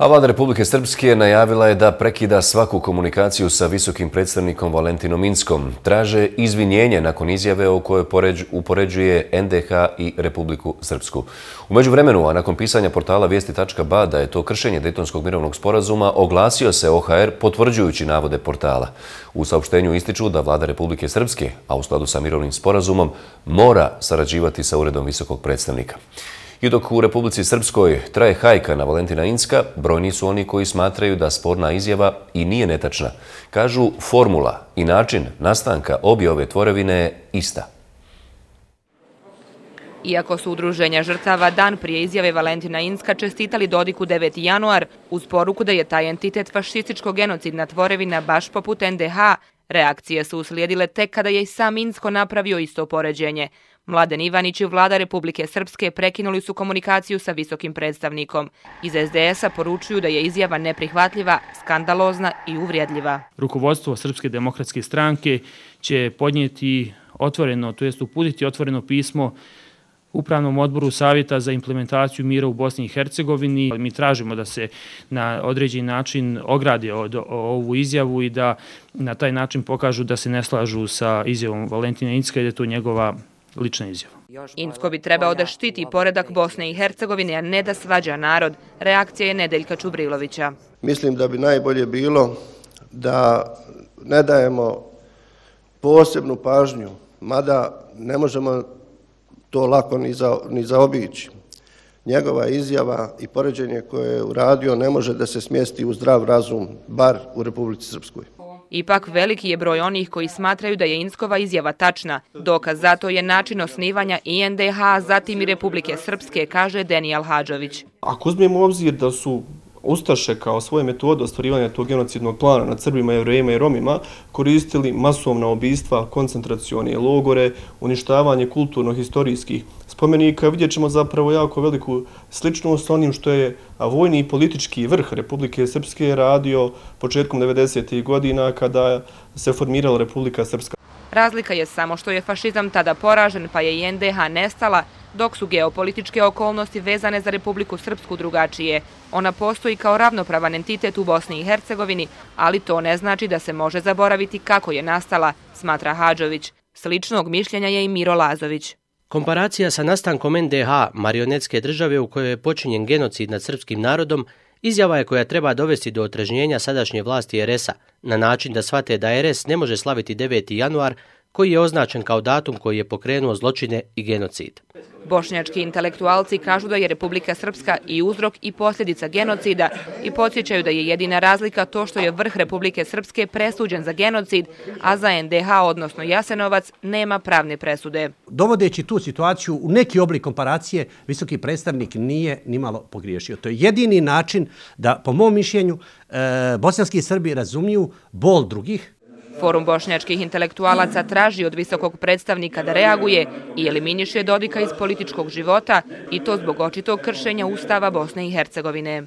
A vlada Republike Srpske najavila je da prekida svaku komunikaciju sa visokim predstavnikom Valentinom Inckom. Traže izvinjenje nakon izjave o kojoj upoređuje NDH i Republiku Srpsku. U međuvremenu, a nakon pisanja portala Vijesti.ba da je to kršenje Dejtonskog mirovnog sporazuma, oglasio se OHR potvrđujući navode portala. U saopštenju ističu da vlada Republike Srpske, a u skladu sa mirovnim sporazumom, mora sarađivati sa uredom visokog predstavnika. I dok u Republici Srpskoj traje hajka na Valentina Incka, brojni su oni koji smatraju da sporna izjava i nije netačna. Kažu, formula i način nastanka obje ove tvorevine je ista. Iako su udruženja žrtava dan prije izjave Valentina Incka čestitali Dodiku 9. januar uz poruku da je taj entitet fašističko-genocidna tvorevina baš poput NDH, reakcije su uslijedile tek kada je i sam Incko napravio isto poređenje. Mladen Ivanić i vlada Republike Srpske prekinuli su komunikaciju sa visokim predstavnikom. Iz SDS-a poručuju da je izjava neprihvatljiva, skandalozna i uvrijedljiva. Rukovodstvo Srpske demokratske stranke će podnijeti otvoreno, to jest uputiti otvoreno pismo Upravnom odboru Savjeta za implementaciju mira u Bosni i Hercegovini. Mi tražimo da se na određeni način ograde od ovu izjavu i da na taj način pokažu da se ne slažu sa izjavom Valentina Incka i da je to njegova lična izjava. Incko bi trebao da štiti poredak Bosne i Hercegovine, a ne da svađa narod. Reakcija je Nedeljka Čubrilovića. Mislim da bi najbolje bilo da ne dajemo posebnu pažnju, mada ne možemo to lako ni zaobići. Njegova izjava i poređenje koje je uradio ne može da se smjesti u zdrav razum, bar u Republici Srpskoj. Ipak veliki je broj onih koji smatraju da je Inckova izjava tačna. Dokaz za to je način osnivanja i NDH, zatim i Republike Srpske, kaže Denijal Hadžović. Ako uzmemo u obzir da su ustaše kao svoje metode ostvarivanja tog genocidnog plana nad Srbima, Jevrejima i Romima koristili masovna ubistva, koncentracione logore, uništavanje kulturno-historijskih spomenika, vidjet ćemo zapravo jako veliku sličnost s onim što je vojni i politički vrh Republike Srpske radio početkom 90. godina kada se formirala Republika Srpska. Razlika je samo što je fašizam tada poražen, pa je i NDH nestala, dok su geopolitičke okolnosti vezane za Republiku Srpsku drugačije. Ona postoji kao ravnopravan entitet u Bosni i Hercegovini, ali to ne znači da se može zaboraviti kako je nastala, smatra Hadžović. Sličnog mišljenja je i Miro Lazović. Komparacija sa nastankom NDH, marionetske države u kojoj je počinjen genocid nad srpskim narodom, izjava je koja treba dovesti do otrežnjenja sadašnje vlasti RS-a, na način da shvate da RS ne može slaviti 9. januar, koji je označen kao datum koji je pokrenuo zločine i genocid. Bošnjački intelektualci kažu da je Republika Srpska i uzrok i posljedica genocida i podsjećaju da je jedina razlika to što je vrh Republike Srpske presuđen za genocid, a za NDH, odnosno Jasenovac, nema pravne presude. Dovodeći tu situaciju u neki oblik komparacije, visoki predstavnik nije nimalo pogriješio. To je jedini način da, po mom mišljenju, bosanski Srbi razumiju bol drugih. Forum bošnjačkih intelektualaca traži od visokog predstavnika da reaguje i eliminiše Dodika iz političkog života, i to zbog očitog kršenja Ustava Bosne i Hercegovine.